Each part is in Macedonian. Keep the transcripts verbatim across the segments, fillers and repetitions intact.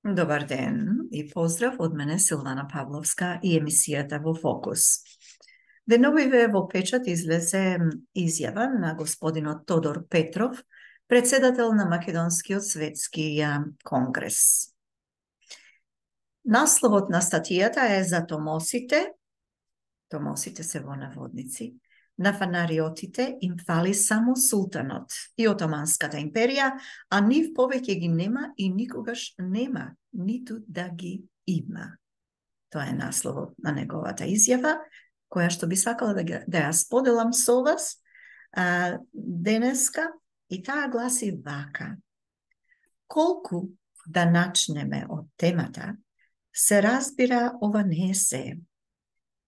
Добар ден и поздрав од мене Силвана Павловска и емисијата во Фокус. Деновиве во печат излезе изјава на господинот Тодор Петров, председател на Македонскиот светски конгрес. Насловот на статијата е за томосите, томосите се во наводници, на фанариотите им фали само султанот и Отоманската империја, а нив повеќе ги нема и никогаш нема, ниту да ги има. Тоа е насловот на неговата изјава, која што би сакала да, да ја споделам со вас а, денеска, и таа гласи вака. Колку да начнеме од темата, се разбира ова не е се.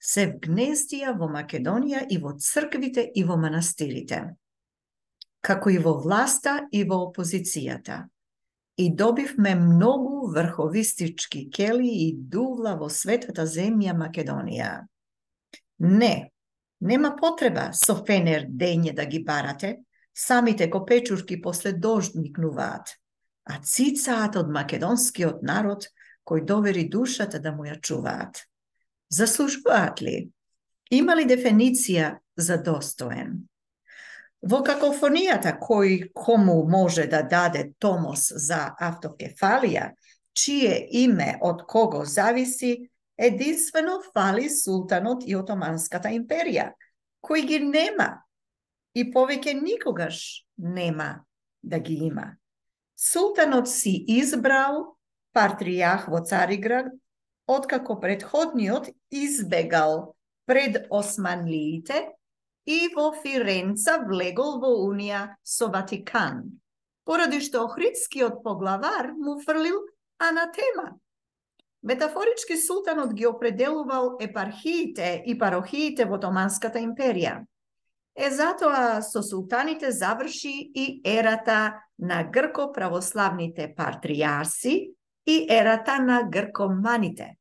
Се вгнездија во Македонија и во црквите и во манастирите, како и во власта и во опозицијата. И добивме многу врховистички кели и дувла во светата земја Македонија. Не, нема потреба со фенер дење да ги барате, самите копечурки после дожд никнуваат, а цицаат од македонскиот народ кој довери душата да му ја чуваат. Заслужуваат ли? Има ли дефиниција за достоен? Во какофонијата кој кому може да даде томос за автокефалија, чие име од кого зависи, единствено фали султанот и Отоманската империја, кој ги нема и повеќе никогаш нема да ги има. Султанот си избрал патријарх во Цариград, откако предходниот избегал пред османлиите и во Фиренца влегол во унија со Ватикан, поради што охридскиот поглавар му фрлил анатема. Метафорички султанот ги определувал епархиите и парохиите во Отоманската империја. Е затоа со султаните заврши и ерата на грко-православните патријарси и ерата на гркоманите.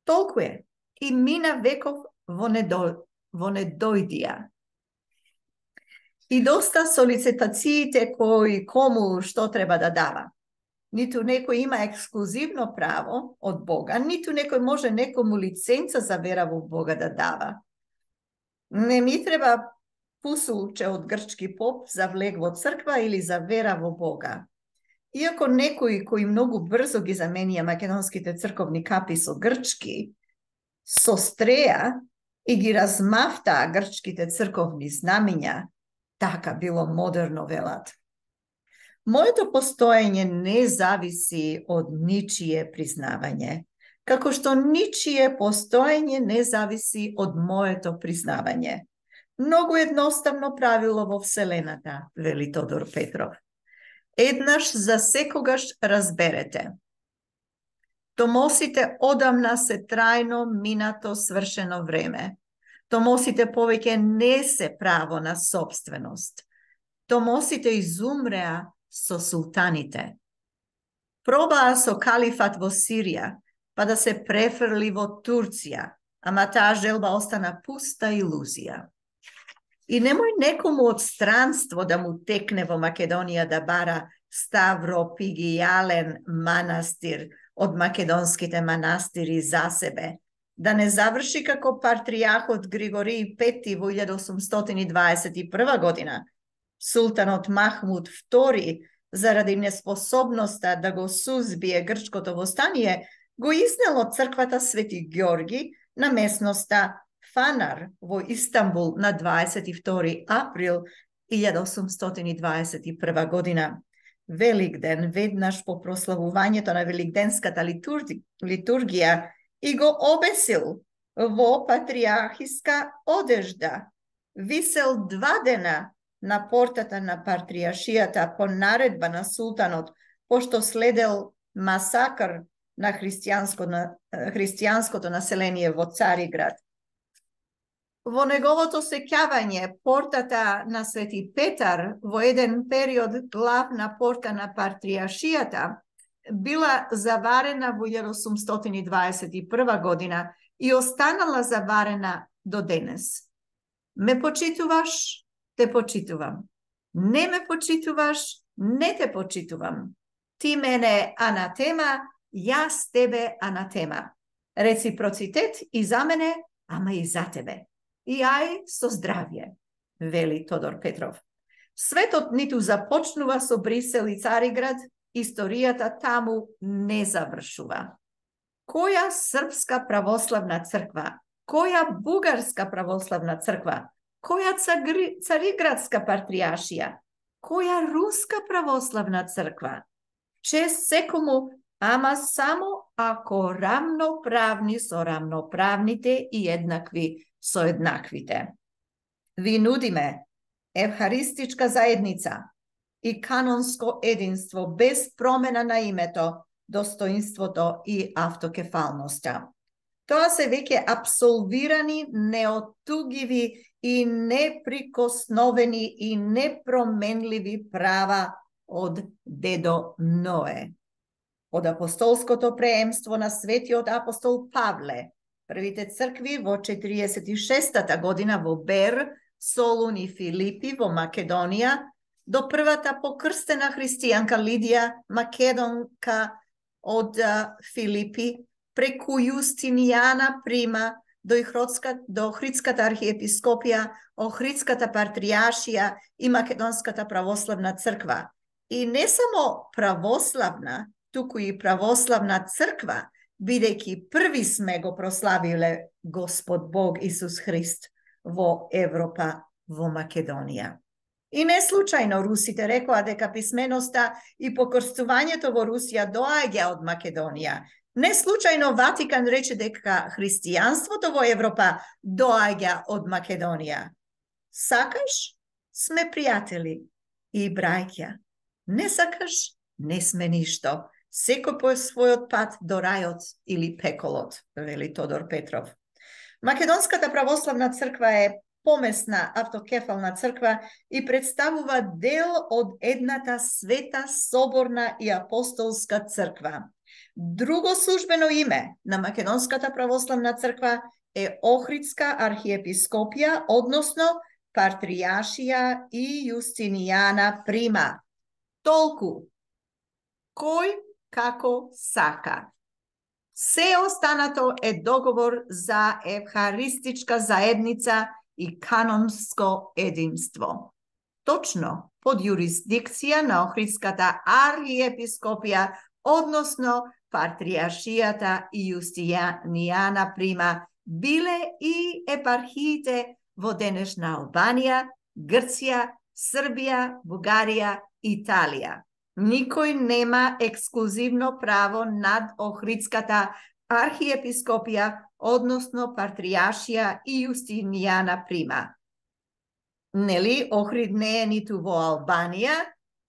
Толку е, и мина веков во, недо, во недојдија. И доста солицитациите кои кому што треба да дава. Ниту некој има ексклузивно право од Бога, ниту некој може некому лиценца за вера во Бога да дава. Не ми треба пусулче од грчки поп за влег во црква или за вера во Бога. Иако некои кои многу брзо ги заменија македонските црковни капи со грчки, со стреја и ги размафтаа грчките црковни знамиња, така било модерно велат. Моето постоење не зависи од ничие признавање, како што ничие постоење не зависи од моето признавање. Многу едноставно правило во Вселената, вели Тодор Петров. Еднаш за секогаш разберете. Томосите одамна се трајно минато свршено време. Томосите повеќе не се право на собственост. Томосите изумреа со султаните. Пробаа со калифат во Сирија, па да се префрли во Турција, ама таа желба остана пуста илузија. И немој некому од странство да му текне во Македонија да бара ставропигијален манастир од македонските манастири за себе, да не заврши како патријархот Григорий Пети во илјада осумстотини дваесет и прва година, султанот Махмуд Втори, заради неспособноста да го сузбие грчкото востание, го изнел од црквата Свети Ѓорги на местноста Фанар во Истанбул на дваесет и втори април илјада осумстотини дваесет и прва година. Великден, веднаш по прославувањето на великденската литурги, литургија, и го обесил во патријархиска одежда. Висел два дена на портата на патријаршијата по наредба на султанот, пошто следел масакр на христијанско, на христијанското население во Цариград. Во неговото сеќавање, портата на Свети Петар, во еден период главна порта на патријаршијата, била заварена во илјада осумстотини дваесет и прва година и останала заварена до денес. Ме почитуваш, те почитувам. Не ме почитуваш, не те почитувам. Ти мене анатема, јас тебе анатема. Реципроцитет и за мене, ама и за тебе. И ај со здравје, вели Тодор Петров. Светот ниту започнува со Брисел и Цариград, историјата таму не завршува. Која српска православна црква, која бугарска православна црква, која цариградска патријаршија, која руска православна црква? Чест секому, ама само ако рамноправни со рамноправните и еднакви со еднаквите. Ви нудиме евхаристичка заедница и канонско единство без промена на името, достоинството и автокефалноста. Тоа се веќе апсолвирани, неотугиви и неприкосновени и непроменливи права од дедо Ное. Од апостолското преемство на светиот апостол Павле, првите цркви во четириесет и шестата година во Бер, Солун и Филипи во Македонија, до првата покрстена христијанка Лидија, македонка од Филипи, преку Јустинијана Прима, до Охридската архиепископија, Охридската патријаршија и Македонската православна црква. И не само православна, туку и православна црква, бидејќи први сме го прославиле Господ Бог Исус Христ во Европа, во Македонија. И не случајно русите рекоа дека писменоста и покрстувањето во Русија доаѓа од Македонија. Не случајно Ватикан рече дека христијанството во Европа доаѓа од Македонија. Сакаш? Сме пријатели и браќа. Не сакаш? Не сме ништо. Секој по својот пат до рајот или пеколот, вели Тодор Петров. Македонската православна црква е помесна автокефална црква и представува дел од едната света, соборна и апостолска црква. Друго службено име на Македонската православна црква е Охридска архиепископија, односно патријаршија и Јустинијана Прима. Толку. Кој како сака. Се останато е договор за евхаристичка заедница и канонско единство. Точно под јурисдикција на Охридската архиепископија, односно патријаршијата и Јустинијана Прима, биле и епархиите во денешна Албанија, Грција, Србија, Бугарија, Италија. Никој нема ексклузивно право над Охридската архиепископија, односно патријаршија и Јустинијана Прима. Нели, Охрид не е ниту во Албанија,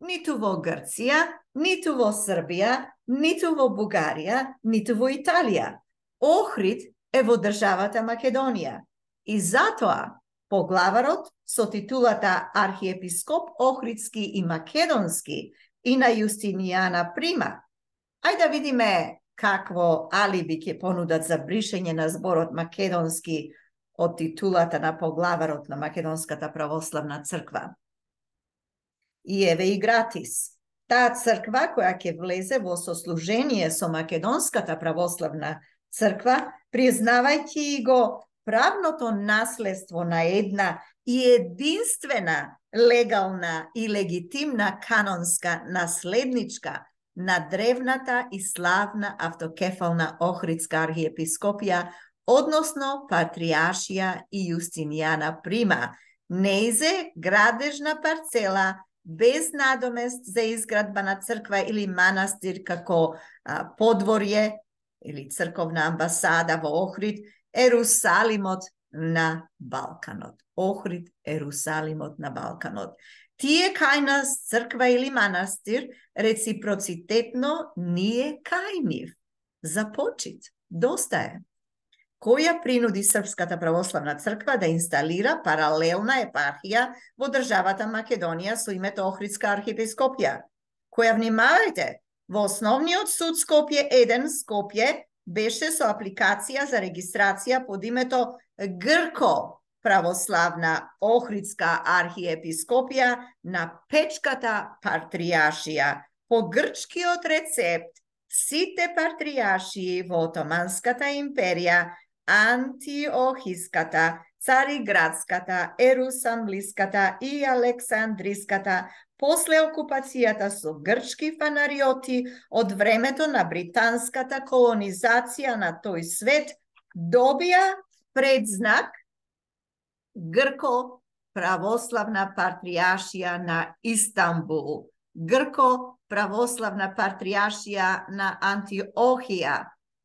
ниту во Грција, ниту во Србија, ниту во Бугарија, ниту во Италија. Охрид е во државата Македонија. И затоа поглаварот со титулата архиепископ Охридски и Македонски и на Јустинијана Прима. Ајде да видиме какво алиби ќе понудат за бришење на зборот македонски од титулата на поглаварот на Македонската православна црква. И еве и гратис. Таа црква која ќе влезе во сослужение со Македонската православна црква, признавајќи го правното наследство на една и единствена легална и легитимна канонска наследничка на древната и славна автокефална Охридска архиепископија, односно патријаршија и Јустинијана Прима, неизе градежна парцела без надомест за изградба на црква или манастир како а, подворје или црковна амбасада во Охрид, Ерусалимот на Балканот. Охрид, Ерусалимот на Балканот. Тие кај нас црква или манастир реципроцитетно ние кај нив. За почит. Доста е. Која принуди Српската православна црква да инсталира паралелна епархија во државата Македонија со името Охридска архиепископија? Која, внимавајте, во основниот суд Скопје еден Скопје беше со апликација за регистрација под името Грко православна Охридска архиепископија на Печката патријаршија по грчкиот рецепт сите патријаршии во Отоманската империја, Антиохиската, Цариградската, Ерусалимската и Александриската, после окупацијата со грчки фанариоти од времето на британската колонизација на тој свет, добија предзнак Грко православна патријаршија на Истанбул, Грко православна патријаршија на Антиохија,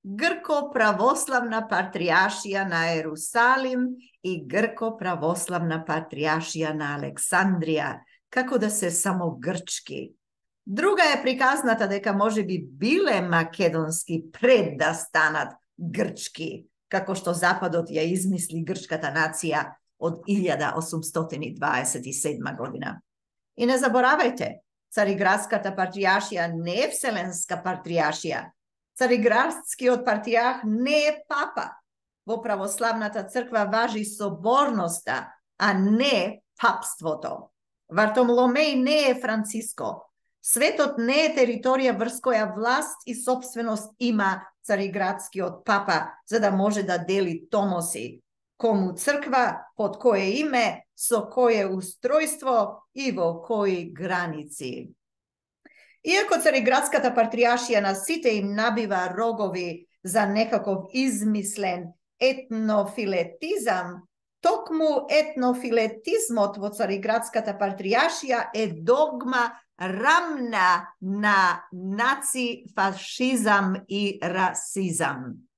Грко православна патријаршија на Ерусалим и Грко православна патријаршија на Александрија, како да се само грчки. Друга е приказната дека може би биле македонски пред да станат грчки, како што Западот ја измисли грчката нација од илјада осумстотини дваесет и седма година. И не заборавајте, Цариградската патријаршија не е вселенска патријаршија. Цариградскиот патријарх не е папа. Во православната црква важи соборноста, а не папството. Вартоломеј не е Франциско. Светот не е територија врз која власт и собственост има Цариградскиот папа, за да може да дели томоси. Кому црква, под кое име, со кое устројство и во кои граници. Иако Цариградската патријаршија на сите им набива рогови за некаков измислен етнофилетизам, токму етнофилетизмот во Цариградската патријаршија е догма рамна на нацифашизам и расизам.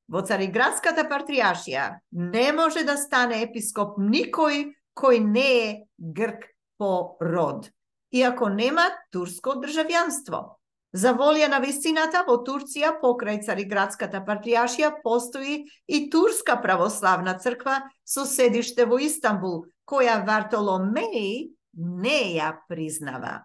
Во Цариградската патријаршија не може да стане епископ никој кој не е грк по род, иако нема турско државјанство. За волја на вистината, во Турција, покрај Цариградската патријаршија, постои и Турска православна црква со седиште во Истанбул, која Вартоломеј не ја признава.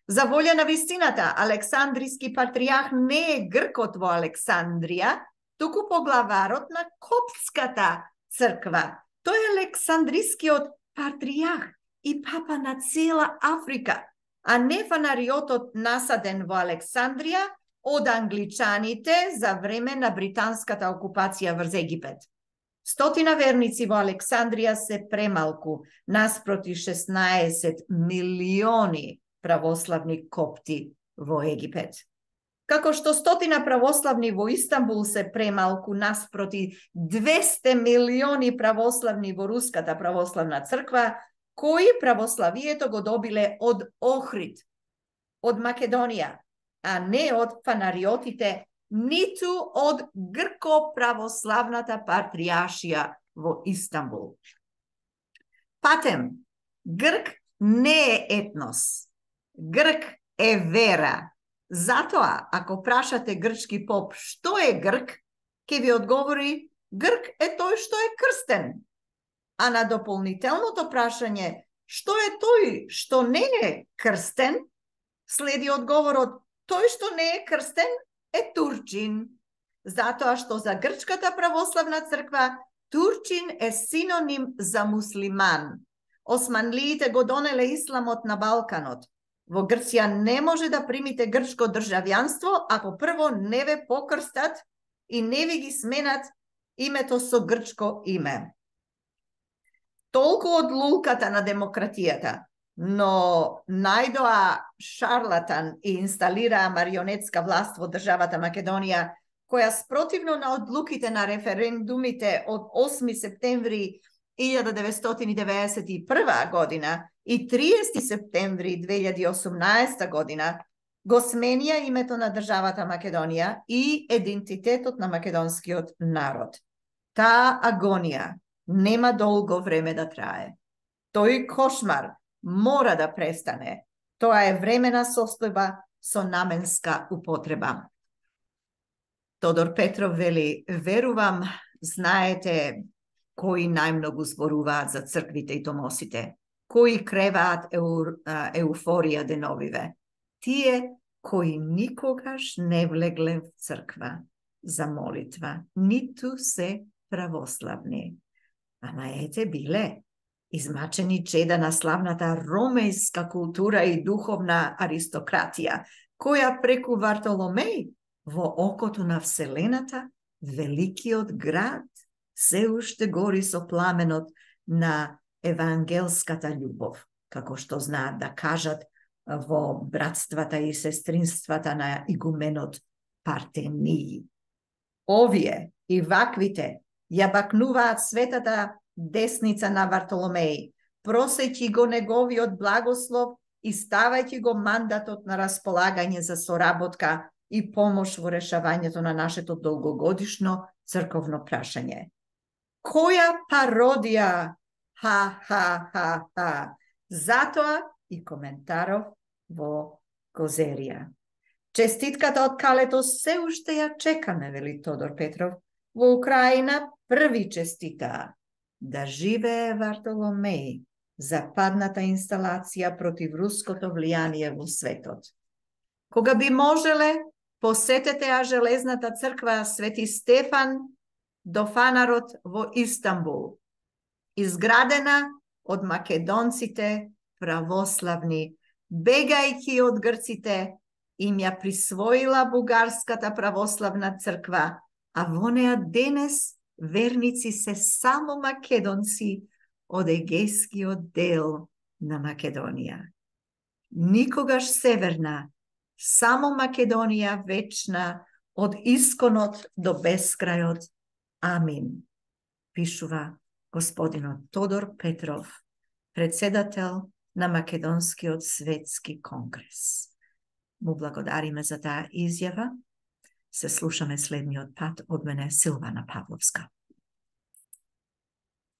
За волја на вистината, Александриски патријарх не е гркот во Александрија, туку поглаварот на Коптската црква. Тој е Александрискиот патријарх и папа на цела Африка, а не фанариотот насаден во Александрија од англичаните за време на британската окупација врз Египет. Стотина верници во Александрија се премалку, наспроти шеснаесет милиони православни копти во Египет. Како што стотина православни во Истанбул се премалку, наспроти двесте милиони православни во Руската православна црква, кои православието го добиле од Охрид, од Македонија, а не од фанариотите, ниту од грко-православната патријаршија во Истанбул. Патем, грк не е етнос. Грк е вера. Затоа, ако прашате грчки поп што е грк, ќе ви одговори грк е тој што е крстен. А на дополнителното прашање што е тој што не е крстен, следи одговорот тој што не е крстен е турчин. Затоа што за грчката православна црква турчин е синоним за муслиман. Османлиите го донеле исламот на Балканот. Во Грција не може да примите грчко државјанство ако прво не ве покрстат и не ви ги сменат името со грчко име. Толку од лулката на демократијата, но најдоа шарлатан и инсталираа марионетска власт во државата Македонија, која спротивно на одлуките на референдумите од осми септември илјада деветстотини деветдесет и прва година и триесети септември две илјади и осумнаесета година, го сменија името на државата Македонија и идентитетот на македонскиот народ. Таа агонија нема долго време да трае. Тој кошмар мора да престане. Тоа е времена состојба со наменска употреба. Тодор Петров вели, верувам, знаете кои најмногу зборуваат за црквите и томосите, кои креваат еу, еуфорија деновиве. Тие кои никогаш не влегле в црква за молитва, ниту се православни. Ама ете биле измачени чеда на славната ромејска култура и духовна аристократија, која преку Вартоломеј во окото на Вселената, великиот град се уште гори со пламенот на евангелската љубов, како што знаат да кажат во братствата и сестринствата на игуменот Партении. Овие и ваквите ја бакнуваат светата десница на Вартоломеј, просејќи го неговиот благослов и ставајќи го мандатот на располагање за соработка и помош во решавањето на нашето долгогодишно црковно прашање. Која пародија! Ха-ха-ха-ха! Затоа и коментаров во Козерија. Честитката од Калето се уште ја чекаме, вели Тодор Петров. Во Украина први честитаа. Да живее Вартоломеј, западната инсталација против руското влијание во светот. Кога би можеле, посетете ја железната црква Свети Стефан до фанарот во Истанбул, изградена од македонците православни, бегајќи од грците, им ја присвоила бугарската православна црква, а во неа денес верници се само македонци од егејскиот дел на Македонија. Никогаш северна, само Македонија вечна, од исконот до бескрајот. Амин. Пишува господинот Тодор Петров, председател на Македонскиот светски конгрес. Му благодариме за таа изјава. Се слушаме следниот пат од мене, Силвана Павловска.